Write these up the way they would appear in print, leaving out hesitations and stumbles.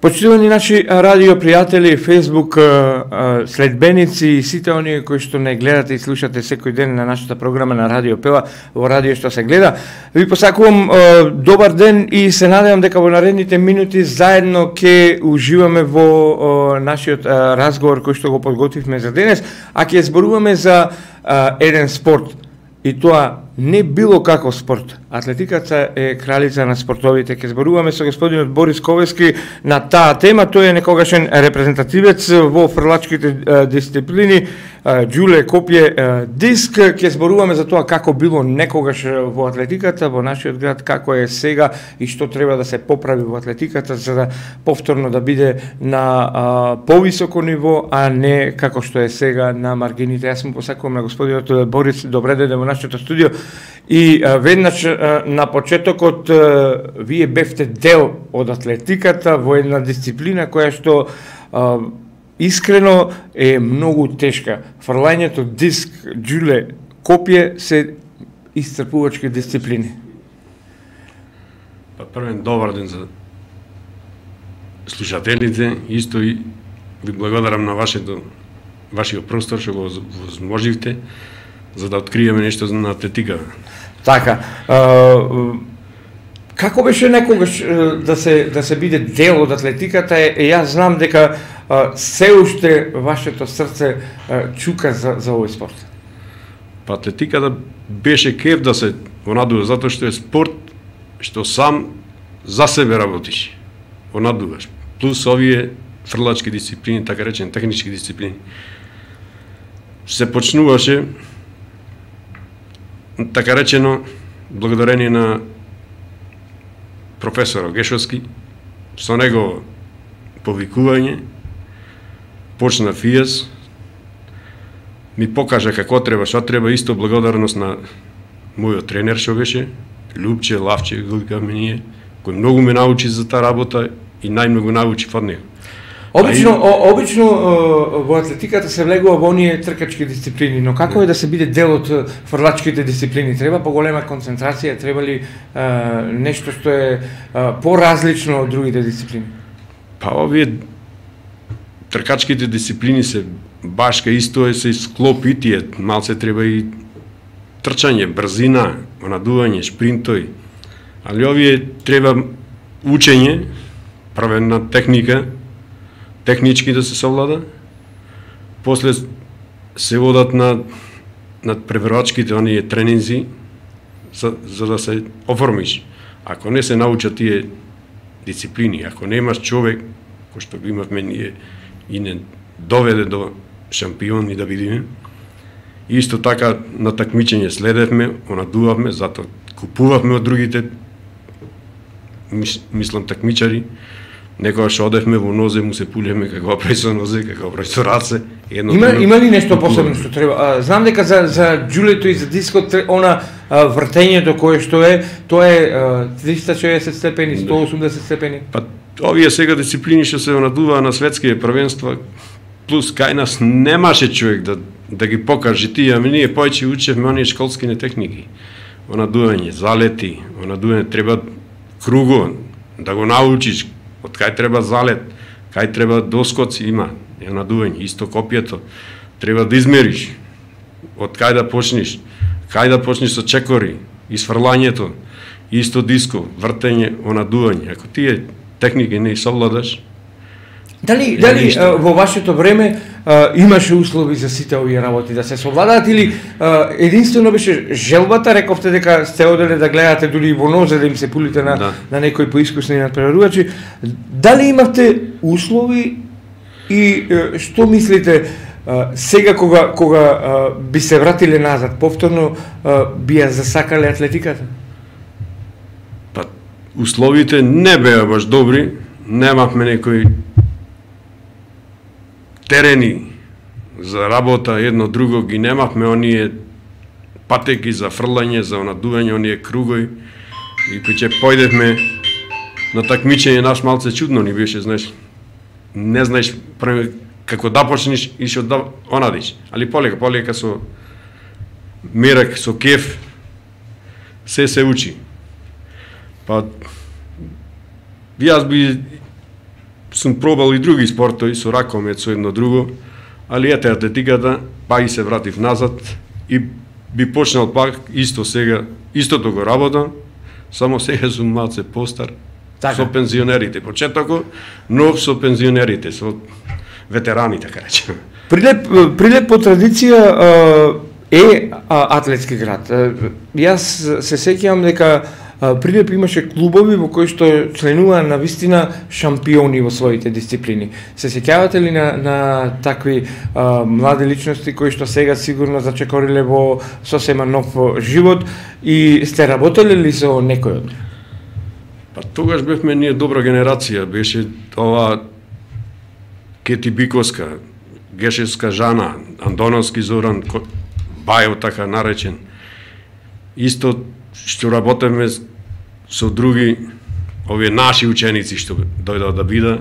Почитувани наши радио пријатели, Facebook следбеници и сите оние кои што не гледате и слушате секој ден на нашата програма на Радио Пела, во радио што се гледа, ви посакувам добар ден и се надевам дека во наредните минути заедно ќе уживаме во нашиот разговор кој што го подготвивме за денес, а ќе зборуваме за еден спорт. И тоа не било каков спорт. Атлетиката е кралица на спортовите. Ке зборуваме со господинот Борис Ковески на таа тема. Тој е некогашен репрезентативец во фрлачките дисциплини, џуле, копје, диск. Ке зборуваме за тоа како било некогаш во атлетиката, во нашиот град, како е сега и што треба да се поправи во атлетиката за да повторно да биде на повисоко ниво, а не како што е сега на маргините. Јас му посакувам на господинот Борис, добре дојде во нашето студио. И веднаш на почетокот вие бевте дел од атлетиката во една дисциплина која што искрено е многу тешка. Фрлањето, диск, џуле, копје се исцрпувачки дисциплини. Првен добар ден за слушателите, исто и ви благодарам на вашиот простор што го возможивте за да откриеме нешто на атлетика. Така, како беше некогаш да се биде дел од атлетиката? Јас знам дека се уште вашето срце чука за овој спорт. Па атлетиката беше кеф да се онадува, затоа што е спорт што сам за себе работиш, онадуваш. Плюс овие фрлачки дисциплини, така речени технички дисциплини. Се почнуваше така речено, благодарение на професор Гешовски, со него повикување, почна ФИЕС, ми покажа како треба, што треба, исто благодарност на мојот тренер што беше, Любче, Лавче, викаме ние, кој многу ме научи за таа работа и најмногу научи од него. Обично во атлетиката се влегува во оние тркачки дисциплини, но како е да се биде дел од фрлачките дисциплини? Треба поголема концентрација, треба ли нешто што е поразлично од другите дисциплини? Па овие тркачките дисциплини се башка исто се склопи тие, малце треба и трчање, брзина, онадување, шпринтови. Али овие треба учење, правена техника, технички да се совлада, после се водат над преварачките оние тренинзи за да се оформиш. Ако не се научат тие дисциплини, ако немаш човек кој што го имавме ние и не доведе до шампиони да видиме, исто така на такмичење следевме, онадувавме, затоа купувавме од другите, мислам такмичари. Некогаш одевме во нозе, му се пулевме како прави со нозе, како прави со раце. Има ли нешто посебно што треба? Знам дека за џулето и за дискот она вртењето кое што е, тоа е 360 степени, 180 степени. Па овие сега дисциплини што се онадуваа на светските првенства, плюс кај нас немаше човек да ги покаже тие, ами ние повеќе учевме оние школските техники. Онадување, залети, онадување треба круго, да го научиш. Од кај треба залет, кај треба доскоци има, е надување, исто копјето, треба да измериш, од кај да почнеш со чекори, изфрлањето, исто диско, вртење, онадување. Ако тие техники не совладаш, Дали во вашето време имаше услови за сите овие работи да се совладаат или единствено беше желбата, рековте дека сте оделе да гледате дури во нозе да им се пулите на некои поискусни надпреварувачи. Дали имавте услови и што мислите сега кога би се вратиле назад, повторно би ја засакале атлетиката? Па условите не беа баш добри, немавме некои терени за работа, едно друго ги немавме, оние патеки за фрлање, за онадување, оние кругови. И кога појдевме на такмичење, наш малце чудно ни беше, знаеш, не знаеш како да почнеш и што да онадиш. Али полека со мерак, со кеф, се учи. Па, јас би сум пробал и други спортови, со ракомет, со едно друго, али ете атлетиката, па и се вратив назад и би почнал пак исто сега, истото го работам, само сега сум малце постар, така. Со пензионерите. Почетокот нов со пензионерите, со ветерани, така речем. Прилеп по традиција е атлетски град. Јас се сеќавам дека Прилеп имаше клубови во кои што членуваа на вистина шампиони во своите дисциплини. Се сеќавате ли на такви млади личности кои што сега сигурно зачекориле во сосема нов живот и сте работеле ли со некој од нив? Па тогаш бевме ние добра генерација, беше ова Кети Биковска, Гешевска Жана, Андоновски Зоран, Бајо така наречен. Исто што работеме со други овие наши ученици што дојдоа да бида.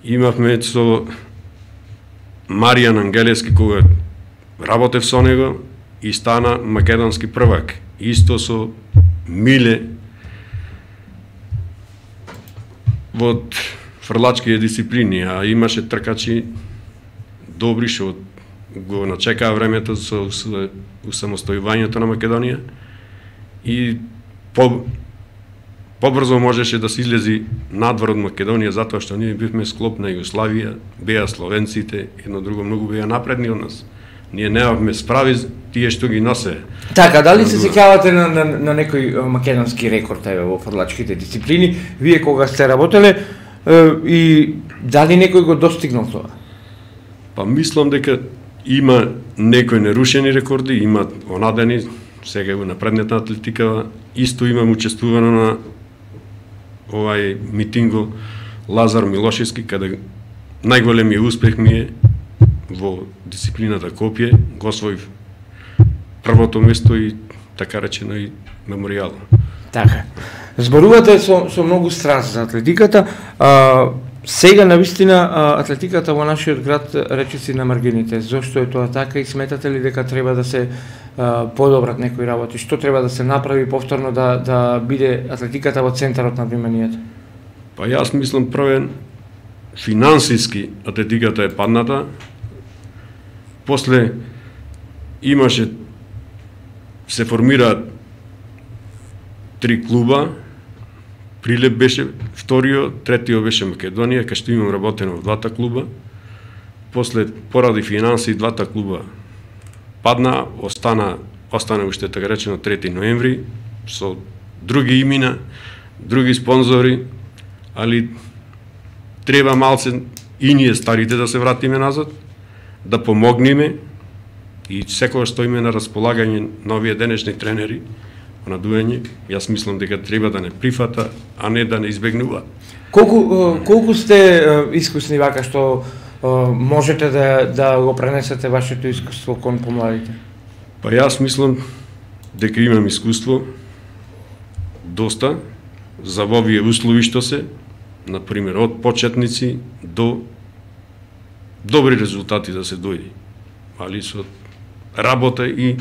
Имавме со Маријан Ангелевски кога работев со него и стана македонски првак. Исто со Миле во фрлачките дисциплини, а имаше тркачи добри што го начекаа времето со усамостојувањето на Македонија и побрзо можеше да се излези надвор од Македонија затоа што ние бивме склоп на Југославија, беа словенците, едно друго многу беа напредни од нас. Ние немавме справи тие што ги носе. Така, дали се сеќавате на некој македонски рекорд во фрлачките дисциплини, вие кога сте работеле и дали некој го достигнал тоа? Па мислам дека има некои нерушени рекорди, има онадени, сега во напредната атлетика, исто имам учествувано на овај митинго Лазар Милошевски, каде најголемиот успех ми е во дисциплината копје, го освоив првото место и така речено и меморијал. Така. Зборувате со многу страст за атлетиката. Сега навистина атлетиката во нашиот град речиси на маргините. Зошто е тоа така и сметате ли дека треба да се подобрат некои работи? Што треба да се направи повторно да биде атлетиката во центарот на вниманието? Па јас мислам првен финансиски атлетиката е падната. После имаше се формираат 3 клуба. Прилеп беше вториот, третиот беше Македонија, кај што имам работено во двата клуба. После поради финанси двата клуба падна, остана уште така речено 3 ноември со други имена, други спонзори, али треба малце и ние старите да се вратиме назад, да помогнеме и секогаш стоиме на располагање на овие денешни тренери на дуење. Јас мислам дека треба да не прифата, а не да не избегнува. Колку сте искусни вака што можете да го пренесете вашето искуство кон помладите? Па јас мислам дека имам искуство доста за овие услови што се, например од почетници до добри резултати да се дојде. Али со работа и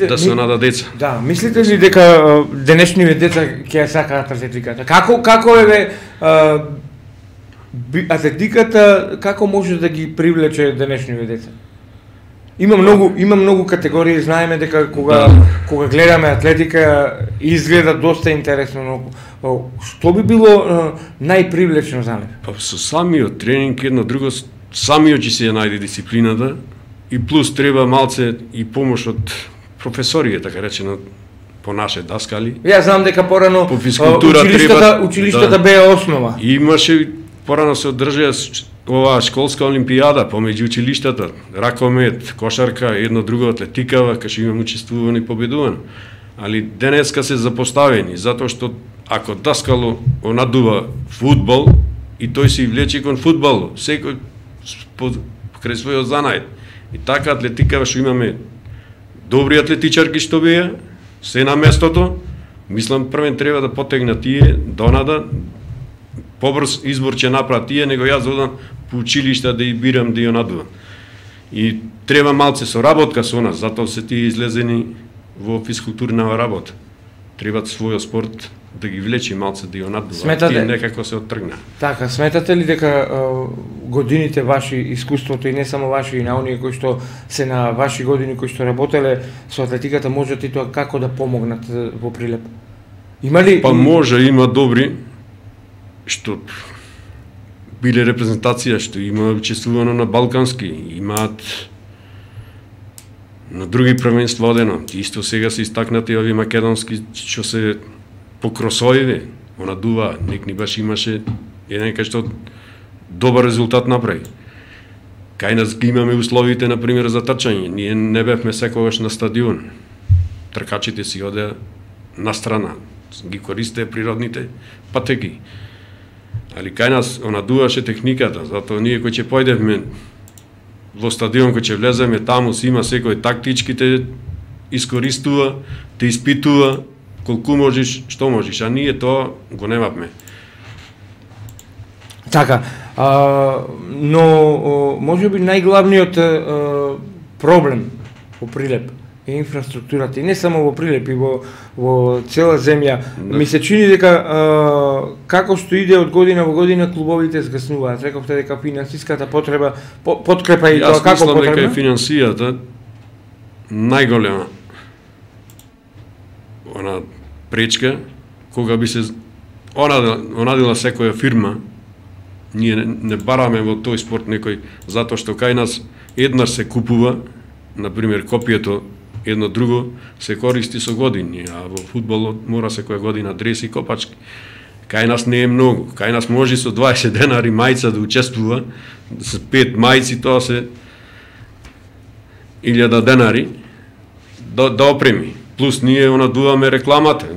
да се нада деца. Да, мислите ли дека денешниве деца ќе сакаат атлетиката? Како е атлетиката, како може да ги привлече денешниве деца? Има многу категории, знаеме дека кога гледаме атлетика изгледа доста интересно, но што би било најпривлечно за нив? Па со самиот тренинг едно друго, самиот ќе се најде дисциплината и плюс треба малце и помош од професорија, така речено, по наше даскали. Јас знам дека порано по физкултура училиштата беа основа. Имаше порано се одржаа ова школска олимпијада помеѓу училиштата, ракомет, кошарка, едно друго атлетикава, кај што имам учествувано и победувано. Али денеска се запоставени, затоа што ако даскало онадува фудбал и тој се влече кон фудбал, секој крај својот занајд. И така атлетикава што имаме добри атлетичарки што беа, се на местото, мислам првен треба да потегнат тие донада, побрз избор ќе направат тие, него јас одам по училишта да и бирам да ја надувам. И треба малце соработка со нас, затоа се тие излезени во физкултурна работа. Требат својот спорт да ги влечи малце да ја надува. Сметате... Тие некако се оттргна. Така, сметате ли дека годините ваши, искуството и не само ваши, и на оние кои што се на ваши години, кои што работеле со атлетиката, можат и тоа како да помогнат во Прилеп? Има ли... Па може, има добри, што биле репрезентација, што има учествувано на балкански, имаат на други првенства одено. Исто сега се истакнати ови македонски, што се по кросоиве, она дува, некни баш имаше еден кај што добар резултат направи. Кај нас ги имаме условите, например, за трчање. Ние не бевме секогаш на стадион. Тркачите си одеа на страна, ги користеа природните патеки. Али кај нас она дуваше техниката, затоа ние кои ќе појдевме во стадион, кој ќе влеземе таму, си има секој тактичките искористува, те испитува колку можеш, што можеш, а ние тоа го немавме. Така, но може би најглавниот проблем во Прилеп е инфраструктурата, и не само во Прилеп, и во цела земја. Да. Ми се чини дека како што иде од година во година клубовите згаснуваат. Рековте дека финансиската подкрепа и тоа како потребна? Јас мислам дека финансијата најголема она пречка, кога би се онадила секоја фирма, ние не бараме во тој спорт некој, затоа што кај нас еднаш се купува, например копието едно друго се користи со години, а во фудбалот мора секоја година дреси и копачки. Кај нас не е многу, кај нас може со 20 денари мајца да учествува, со 5 мајци тоа се 1000 денари да опреми. Плюс ние надуваме рекламата,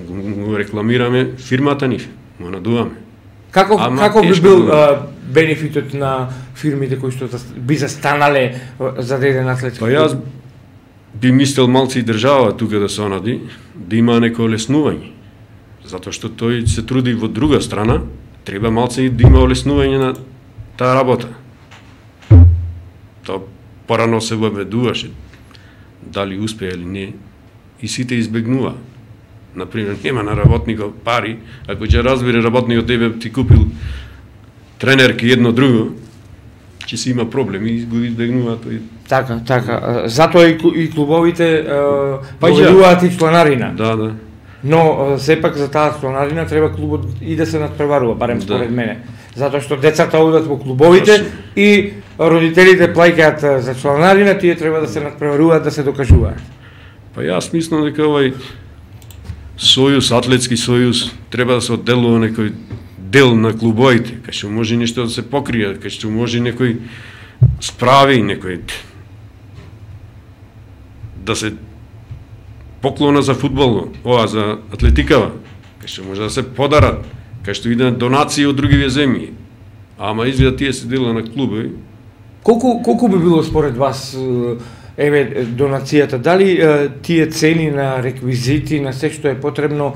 рекламираме фирмата ни, надуваме. Како би бил бенефитот на фирмите кои што би застанале за деден атлетски? Па јас би мислел малци и држава тука да се онади, да има неко олеснување. Затоа што тој се труди во друга страна, треба малци и да има олеснување на таа работа. Тоа порано се въведуваше, дали успее или не, и сите избегнува. Например, нема на работникот пари, ако ќе разбере работникот тебе ти купил тренерки едно друго, ќе си има проблеми и го избегнува тој. Така. Затоа и клубовите поведуваат и чланарина. Да. Но сепак за таа чланарина треба клубот и да се надпреварува, барем според мене. Затоа што децата одат во клубовите и родителите плаќаат за чланарина, тие треба да се надпреваруваат, да се докажуваат. Па јас мислам дека овој сојуз, атлетски сојуз, треба да се одделува некој дел на клубовите, кај што може нешто да се покрие, кај што може некој справи, некој да се поклона за фудбал, за атлетикава, кај што може да се подарат, кај што идат донации од другиве земји. Ама изгледа тие се дела на клубови. Колку би било според вас донацијата? Дали тие цени на реквизити, на се што е потребно,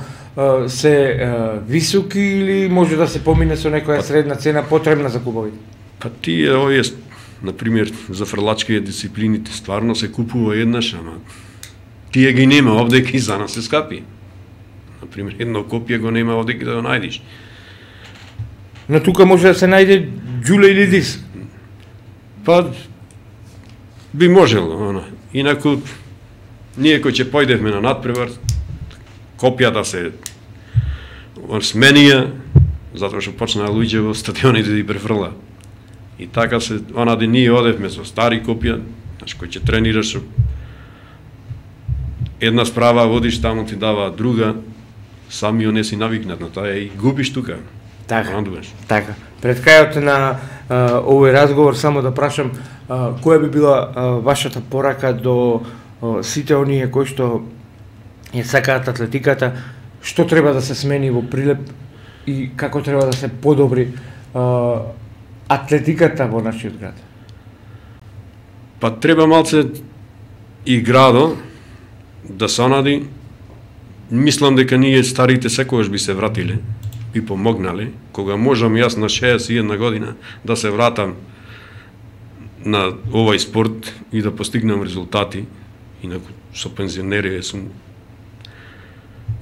се високи или може да се помине со некоја средна цена потребна за клубовите? Па тие, овие, например, за фрлачките дисциплините, стварно се купува еднаш, ама тие ги нема овде, и за нас се скапи. Например, едно копие го нема овде да го најдиш. Но тука може да се најде џуле или диск? Па, би можело, Инаку, ние кои ќе појдевме на надпревар, копијата се сменија, затоа што почнаа луѓе во стадионите да ги префрла. И така се, ние одевме со стари копија, кој ќе тренираш, една справа водиш, таму ти дава друга, самиот не си навикнат на тоа и губиш тука. Така. Пред крајот на овој разговор само да прашам која би била вашата порака до сите оние кои што ја сакаат атлетиката, што треба да се смени во Прилеп и како треба да се подобри атлетиката во нашиот град? Па треба малце и градо да се онади. Мислам дека ние старите секогаш би се вратиле, би помогнале, кога можам јас на 61 година да се вратам на овој спорт и да постигнам резултати, инаку со пензионери сум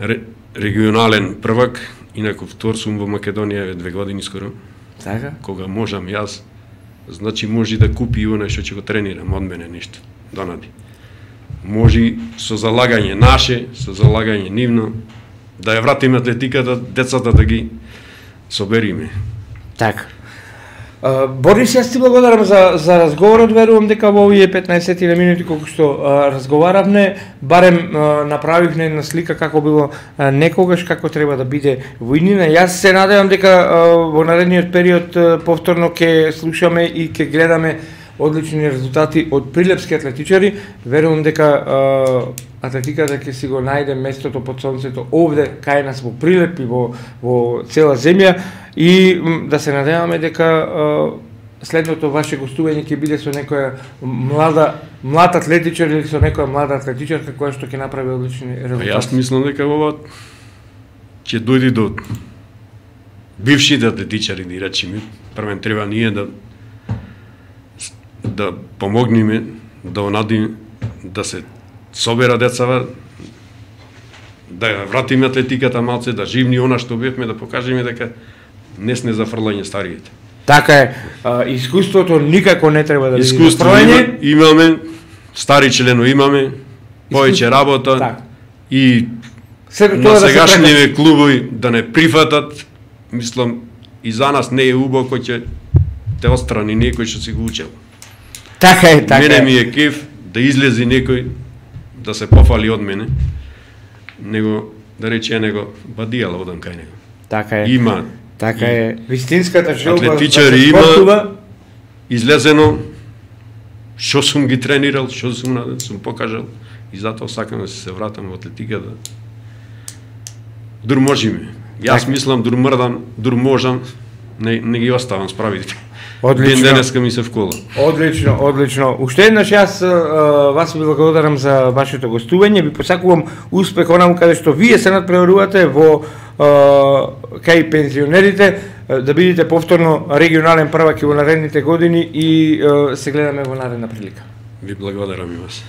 регионален првак, инаку втор сум во Македонија 2 години скоро. Така? Кога можам јас, значи може да купи и оној што ќе го тренирам од мене нешто, донади. Може со залагање наше, со залагање нивно, да ја вратиме атлетиката, децата да ги собериме. Така. Борис, јас ти благодарам за разговорот, верувам дека во овие 15 минути колку што разговаравме, барем направивме една слика како било некогаш, како треба да биде војнина. Јас се надевам дека во наредниот период повторно ќе слушаме и ќе гледаме одлични резултати од прилепски атлетичари. Верувам дека атлетиката ќе си го најде местото под сонцето овде кај нас во Прилеп и во цела земја, и да се надеваме дека следното ваше гостување ќе биде со некоја млад атлетичар или со некоја млада атлетичарка која што ќе направи одлични резултати. Јас мислам дека ова ќе дојде до бившите атлетичари, да речеме. Првен треба ние да помогнеме, да онадиме, да се собера децава, да ја вратиме атлетиката малце, да живни она што бевме, да покажеме дека не сме за фрлање стариите. Така е, искуството никако не треба да биде искуство имаме, стари членови имаме, повеќе работа, так. И на сегашните клубови да не прифатат, мислам, и за нас не е убаво кој ќе те отстрани некој што си го учел. Така е, така мене ми е кеф да излези некој да се пофали од мене, него да рече него бадијала одам кај него. Така е. Има. Така е. Вистинската желба атлетичари има излезено што сум ги тренирал, што сум покажал, и затоа сакам да се вратам во атлетиката. Дур можеме. Јас мислам дур мрдам, дур можам, не ги оставам справите. Одлично. Денеска ми се вкола. Одлично, одлично. Уште еднаш јас вас ви благодарам за вашето гостување. Ви посакувам успех онаму каде што вие се надпреварувате во кај пензионерите, да бидете повторно регионален првак и во наредните години, и се гледаме во наредна прилика. Ви благодарам и вас.